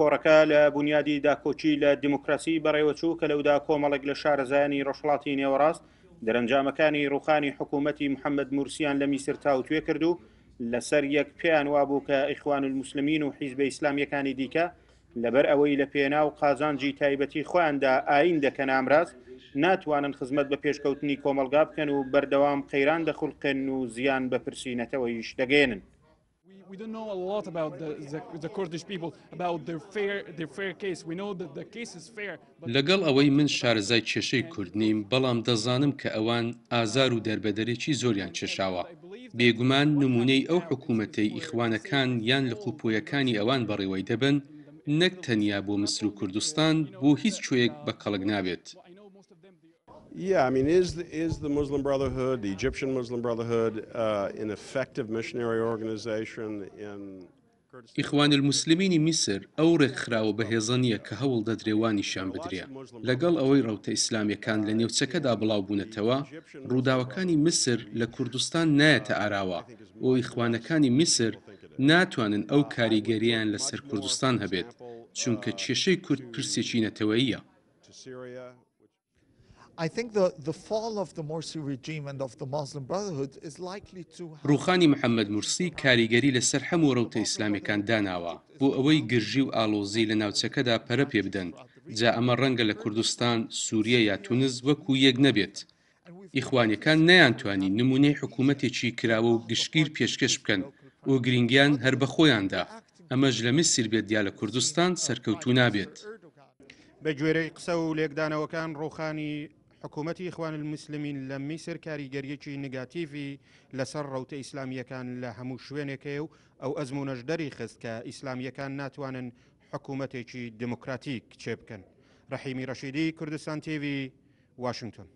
کۆڕەکە لە بونیادی داکۆکی لە دیموکراسی بەڕێوەچوو کە لەودا کۆمەڵێک لە شارەزایانی ڕۆژهەڵاتی نێوەڕاست دەرەنجامەکانی ڕووخانی حکوومەتی محەممەد مورسیان لە میسر تاوتوێ کرد و لەسەر یەک پێیان وابوو کە ئیخوانولموسلمین و حیزبە ئیسلامییەکانی دیکە لەبەر ئەوەی لە پێناو قازانجی تایبەتی خۆیاندا ئایین دەکەنە ئامراز، ناتوانن خزمەت بە پێشکەوتنی کۆمەڵگا بکەن و بەردەوام قەیران دەخولقێنن و زیان بە پرسی نەتەوەییش دەگەیەنن. لەگەڵ ئەوەی من شارەزای کێشەی کورد نیم، بەڵام دەزانم کە ئەوان ئازار و دەربەدەریی زۆریان کێشاوە. بێگومان نموونەی ئەو حکوومەتەی ئیخوانەکان یان لقوپۆیەکانی ئەوان بەڕێوەی دەبەن، نەک تەنیا بۆ میسر و کوردستان، بۆ هیچ کوێیەک بە کەڵک نابێت. Yeah, I mean, is the, is the Muslim Brotherhood, the Egyptian Muslim Brotherhood, uh, an effective missionary organization in ئیخوانولموسلمینی میسر ئەو ڕێکخراوە بەهێزە نییە کە هەوڵ دەدرێ وا نیشان بدرێ. لەگەڵ ئەوەی ڕەوتە ئیسلامییەکان لە نێوچەکەدا بڵاو بوونەتەوە، ڕووداوەکانی میسر لە کوردستان نایەتە ئاراوە و ئیخوانەکانی میسر ناتوانن ئەو کاریگەرییەیان لەسەر کوردستان هەبێت، چونکە کێشەی کورد پرسێکی نەتەوەییە. ڕووخانی محەمەد مورسی کاریگەری لەسەر هەموو ڕەوتە ئیسلامیەکان داناوە بۆ ئەوەی گرژی و ئاڵۆزی لە ناوچەکەدا پەرە پێ بدەن، جا ئەمە ڕەنگە لە کوردستان، سوریە یا تونس وەکو یەک نەبێت. ئیخوانیەکان نەیانتوانی نمونەی حکومەتێکی کراوە و گشتگیر پێشکەش بکەن و گرینگیان هەر بە خۆیان دا، ئەمەش لە میسر بێت یا لە کوردستان سەرکەوتوو نابێت. بە گوێرەی قسە و لێکدانەوەکان ڕووخانی حکوومەتی ئیخوان الموسلمین لە میسر کاریگەریەکی نگاتیڤی لەسەر ڕەوتە ئیسلامییەکان لە هەموو شوێنێک هەیە و ئەو ئەزموونەش دەریخست کە ئیسلامییەکان ناتوانن حکوومەتێکی دێموکراتیک چێ بکەن. ڕەحیمی ڕەشیدی، کوردستان تیڤی، واشنگتۆن.